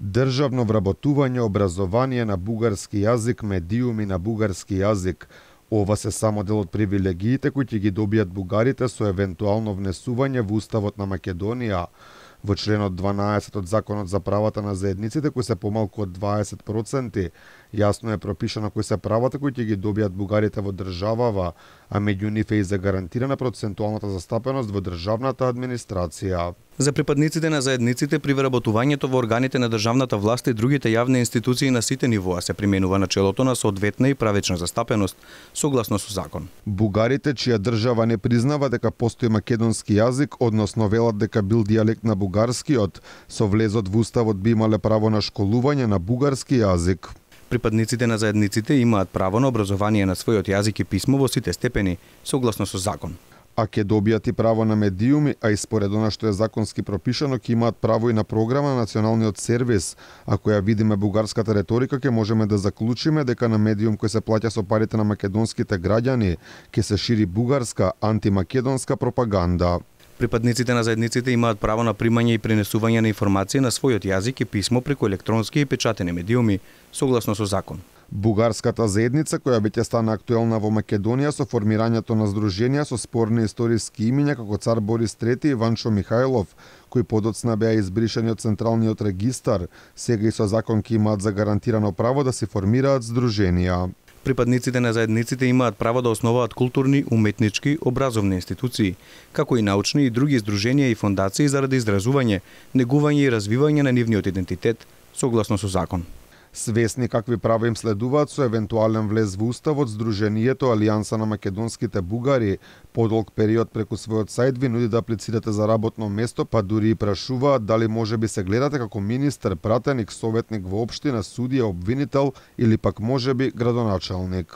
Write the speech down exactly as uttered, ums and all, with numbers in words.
државно вработување образование на бугарски јазик, медиуми на бугарски јазик. Ова се само дел од привилегиите кои ќе ги добијат бугарите со евентуално внесување во Уставот на Македонија. Во членот дванаесет од Законот за правата на заедниците, кои се помалку од дваесет проценти, јасно е пропишано кои се правата кои ќе ги добијат бугарите во државава, а меѓу нив е и загарантирана процентуалната застапеност во државната администрација. За припадниците на заедниците при вработувањето во органите на државната власт и другите јавни институции на сите нивоа се применува начелото на соодветна и правечна застапеност, согласно со закон. Бугарите чија држава не признава дека постои македонски јазик, односно велат дека бил дијалект на бугарскиот, со влезот во Уставот би имале право на школување на бугарски јазик. Припадниците на заедниците имаат право на образование на својот јазик и писмо во сите степени, согласно со закон. А ќе добијат и право на медиуми, а и според она што е законски пропишано, ќе имаат право и на програма на националниот сервис. Ако ја видиме бугарската реторика, ќе можеме да заклучиме дека на медиум кој се плаќа со парите на македонските граѓани, ќе се шири бугарска антимакедонска пропаганда. Припадниците на заедниците имаат право на примање и пренесување на информации на својот јазик и писмо преку електронски и печатени медиуми, согласно со закон. Бугарската заедница, која веќе стана актуелна во Македонија со формирањето на здруженија со спорни историски имиња како цар Борис трети и Ванчо Михајлов, кои подоцна беа избришани од Централниот регистар, сега и со закон ќе имаат загарантирано право да се формираат здруженија. Припадниците на заедниците имаат право да основаат културни, уметнички, образовни институции, како и научни и други здруженија и фондации заради изразување, негување и развивање на нивниот идентитет, согласно со закон. Свесни какви права им следуваат со евентуален влез во Уставот, Здруженијето Алијанса на македонските бугари подолг период преку својот сајт ви нуди да аплицирате за работно место, па дури и прашуваат дали може би се гледате како министер, пратеник, советник во општина, судија, обвинител или пак може би градоначалник.